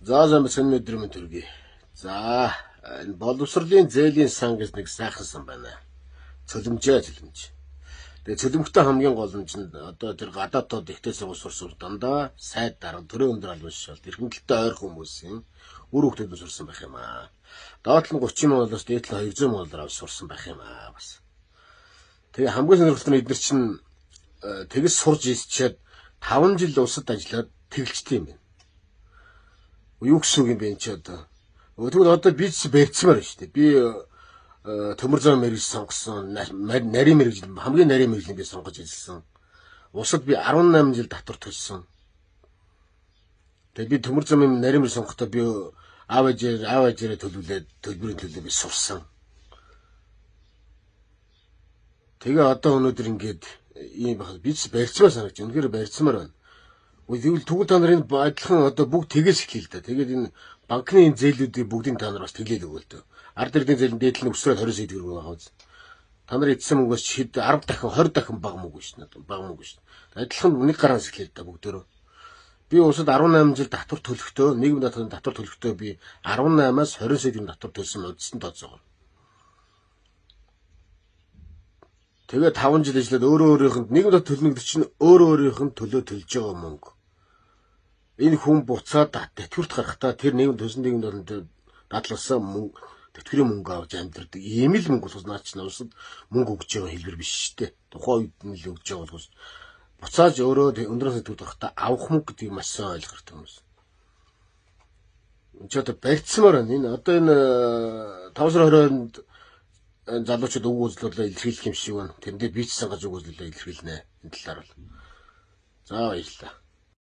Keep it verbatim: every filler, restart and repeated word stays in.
За сайн бацхан өдөр мэнд төргий. За энэ боловсролын зээлийн сан гэж нэг сайхан сан байна. Цөлмжээ цөлмж. Тэгээ цөлмөгтэй хамгийн гол нь чинь одоо тэр гадаадд ихтэй сургууль сурсан дандаа сайд дарга төрөө өндөр албан шишэл эрхэмлэлтэй ойр хүмүүсийн үр хөвгтөд сурсан байх юм аа. Доотлон гучин молоос дээдлэн хоёр зуун молоор авч сурсан байх юм аа бас. Тэгээ хамгийн сонирхолтой нь эдгээр чинь тэгс сурж исчээд таван жил усад ажиллаад тэгэлжтэй юм байна. Юу гэсэн үг юм бэ энэ ч одоо. Тэгвэл одоо би ч барьцмаар байна шүү дээ. Би төмөр зам мэрэгж сонгосон, нарийн мэрэгж хамгийн нарийн мэрэгжлийн би сонгож ажилласан. Усад би арван найман жил татвар төлсөн. Тэгээ би төмөр замын нарийн мэрэгж сонгохдоо би аав ээжээр аав ээжээрээ төлөвлөөд төлбөрийн төлөө би сурсан. Тэгээ одоо өнөөдөр ингээд ийм байх би ч барьцмаар санагч. Үнэхээр барьцмаар байна. Тэгвэл тэгвэл та нарын адилхан одоо бүгд тэгээс эхлэе л да. Тэгээд энэ банкны зээлүүдийг бүгдийг та нар бас тэглээл өгөөл төө. Ард эрдийн зээл нь дээдлэн өсрөөд двадцать сая төгрөг байгаа биз. Та нар эдсэн мөнгөөс хэд десять дахин двадцать дахин бага мөнгө шүү дээ. Бага мөнгө шүү дээ. Адилхан нэг гараас эхлэе л да бүгдөө. Би усад арван найман жил татвар төлөхдөө нийгэм даатганы татвар төлөхдөө би арван наймаас двадцать сая төгрөг татвар төлсөн удсан тооцоогоо. Тэгээ таван жил ажиллаад өөрөө өөрийнх нь нийгэм даатгал төлнө гэдэг чинь өөрөө өөрийнх нь төлөө төлж байгаа мөнгө. Энэ хүн буцаад тэтгэврт гарахтаа тэр нийгэм төсөн нийгэм дадлалсан мөнгө тэтгэврийн мөнгө авч амьдрдаг. Ийм л мөнгө болохоос наач навсад мөнгө өгж байгаа хэлбэр биш шүү дээ. Тухайн үед нь л өгж байгаа болохоос буцааж өөрөө өндрөөс тэтгэврт гарахтаа авах мөнгө гэдгийг маш сайн ойлгох хэрэгтэй хүмүүс. Энд ч одоо барьцмаар байна. Энэ одоо энэ таван сарын хорионд залуучууд үг үзлүүлээ илэрхийлэх юм шиг байна. Тэндээ би ч сангаж үг үзлүүлээ илэрхийлнэ. Энэ талаар бол. За баярлалаа.